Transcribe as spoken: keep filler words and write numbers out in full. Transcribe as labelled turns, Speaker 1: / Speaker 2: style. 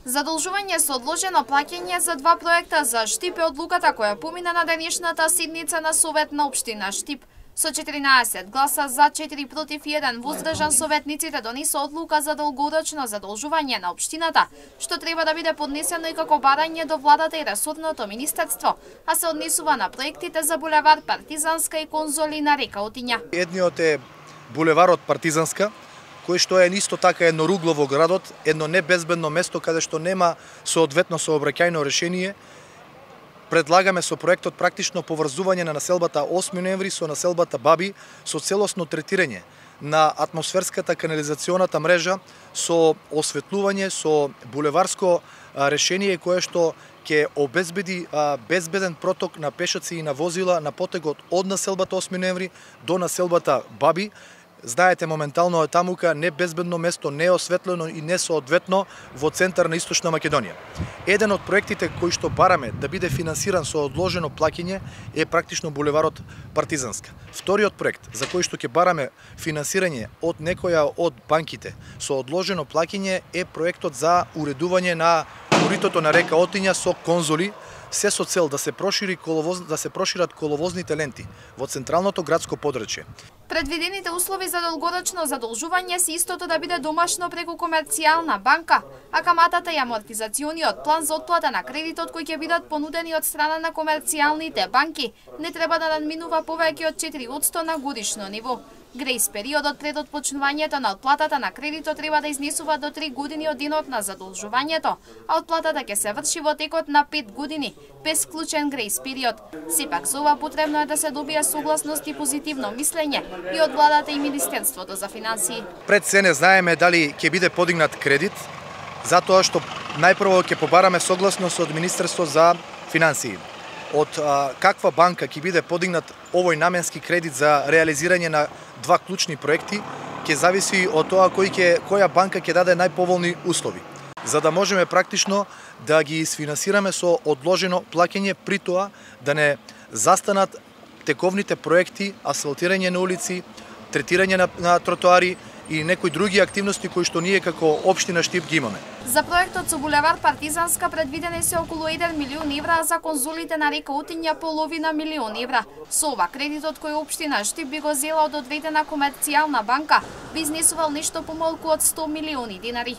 Speaker 1: Задолжување со одложено плаќање за два проекта за Штип е одлуката која помина на денешната седница на Совет на општина Штип. Со четиринаесет гласа за, четири против и еден воздржан, советниците донесоа одлука за долгорочно задолжување на општината, што треба да биде поднесено и како барање до владата и ресорното министерство, а се однесува на проектите за булевар Партизанска и конзоли на река Отиња.
Speaker 2: Едниот е булеварот Партизанска, кој што е исто така едно ругло во градот, едно небезбедно место каде што нема соодветно сообраќајно решение. Предлагаме со проектот практично поврзување на населбата осми ноември со населбата Баби, со целосно третирање на атмосферската канализационата мрежа, со осветлување, со булеварско решение кое што ќе обезбеди безбеден проток на пешаци и на возила на потегот од населбата осми ноември до населбата Баби. Знаете, моментално е тамука небезбедно место, неосветлено и несоодветно во центар на Источна Македонија. Еден од проектите кои што бараме да биде финансиран со одложено плаќање е практично булеварот Партизанска. Вториот проект за кој што ќе бараме финансирање од некоја од банките со одложено плаќање е проектот за уредување на коритото на река Отиња со конзоли, се со цел да се прошири коловоз, да се прошират коловозните ленти во централното градско подрачје.
Speaker 1: Предвидените услови за долгорочно задолжување се истото да биде домашно преку комерцијална банка, а каматата и амортизациониот план за отплата на кредитот кои ќе бидат понудени од страна на комерцијалните банки не треба да надминува повеќе од четири одсто на годишно ниво. Грејс периодот пред отпочнувањето на отплатата на кредитот треба да изнесува до три години од денот на задолжувањето, а отплатата ќе се врши во текот на пет години, без вклучен грејс период. Сепак за ова потребно е да се добие согласност и позитивно мислење и од владата и Министерството за финансии.
Speaker 2: Пред се не знаеме дали ќе биде подигнат кредит, затоа што најпрво ќе побараме согласност од Министерство за финансии. Од а, каква банка ќе биде подигнат овој наменски кредит за реализирање на два клучни проекти, ќе зависи од тоа кој ќе, која банка ќе даде најповолни услови, за да можеме практично да ги isfinansirаме со одложено плаќање, при тоа да не застанат тековните проекти, асфалтирање на улици, третирање на, на тротоари и некои други активности кои што ние како општина Штип ги имаме.
Speaker 1: За проектот со булевар Партизанска предвидени се околу еден милион евра, а за конзолите на река Отиња половина милион евра. Со ова кредитот кој општина Штип би го зела од одредена комерцијална банка би изнесувал нешто помалку од сто милиони динари.